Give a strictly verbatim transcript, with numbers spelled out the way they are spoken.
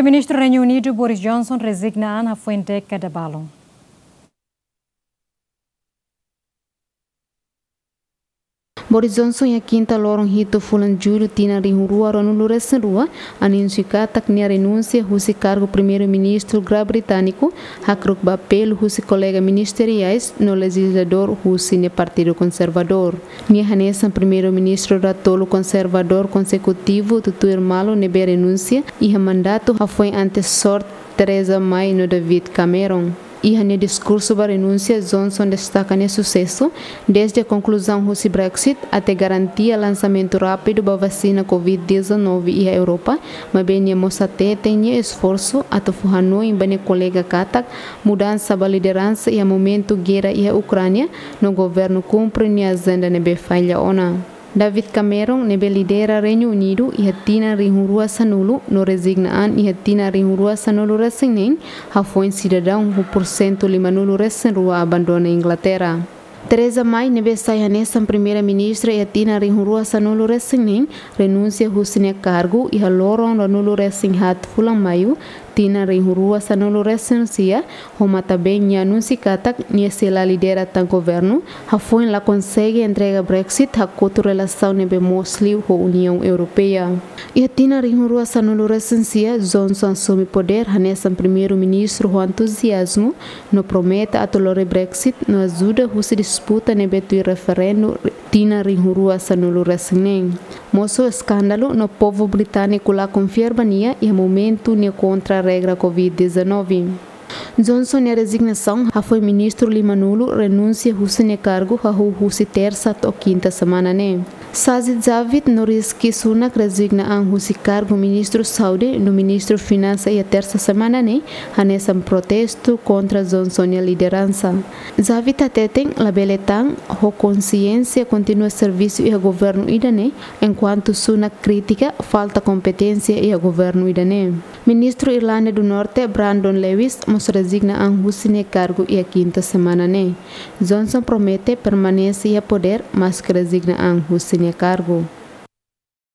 Primeiru-Ministru Reinu Unidu Boris Johnson rezigna an hafoin dékada balun. Boris Johnson iha kinta loron hitu fulan Jullu tinan rihun rua ruanulu resin rua anunsia katak nia renunsia husi kargu Primeiru-Ministru Grã-Britániku, hakruk ba apelu husi kolega ministeriais no lejizladór husi nia Partidu Konservadór. Nia hanesan Primeiru-Ministru datolu konservadór konsekutivu tutuir malu ne'ebé renunsia iha mandatu hafoin ante sorte Theresa May no David Cameron. Iha nia diskursu ba renunsia, Johnson destaka nia susesu, desde konkluzaun husi Brexit até garantia lansamentu rápidu ba vasina covid dezanove iha Europa, maibé nia mós hateten nia esforsu atu fó hanoin ba nia kolega katak mudansa ba lideransa iha momentu guerra iha Ukránia no governu kumpre nia ajenda ne'ebé falla ona. David Cameron, ne'ebé lidera Reinu Unidu iha tinan rihun rua sanulu no rezigna an iha tinan rihun rua sanulu resin neen, hafoin sidadaun ho porsentu limanulu resin rua abandona Inglaterra. Theresa May, ne'ebé sai hanesan Primeira-Ministra iha tinan rihun rua sanulu resin neen, renunsia husi nia kargu iha loron ruanulu resin haat fulan Maiu, tinan rihun rua sanulu resin sia, ho matan-been nia anunsia katak nia sei la lidera tan governu, hafoin la konsege entrega Brexit hakotu relasaun ne'ebé moos liu ho Uniaun Europeia. Iha tinan rihun rua sanulu resin sia, Johnson asume podér hanesan Primeiru-Ministru ho entuziazmu, no promete atu lori Brexit no ajuda husi disputa ne'ebé tuir referendu tinan rihun rua sanulu resin neen. Mosu eskándalu no povu britániku la konfia ba nia iha momentu nia kontra regra covid dezanove. Johnson nia rezignasaun hafoin ministru limanulu renunsia husi nia kargu hahú husi tersa to'o kinta semana ne'e. Sajid Javid no Rishi Sunak rezigna an husi kargu Ministru Saúde no Ministru Finansa iha tersa semana ne'e, hanesan protestu kontra Johnson nia lideransa. Javid hateten labele tan ho konsiénsia kontinua servisu iha governu ida-ne'e, enkuantu Sunak kritika falta kompeténsia iha governu ida-ne'e. Ministru Irlanda do Norte, Brandon Lewis, mós rezigna an husi nia kargu iha kinta semana ne'e. Johnson promete permanese iha podér, maske rezigna an husi nia kargu.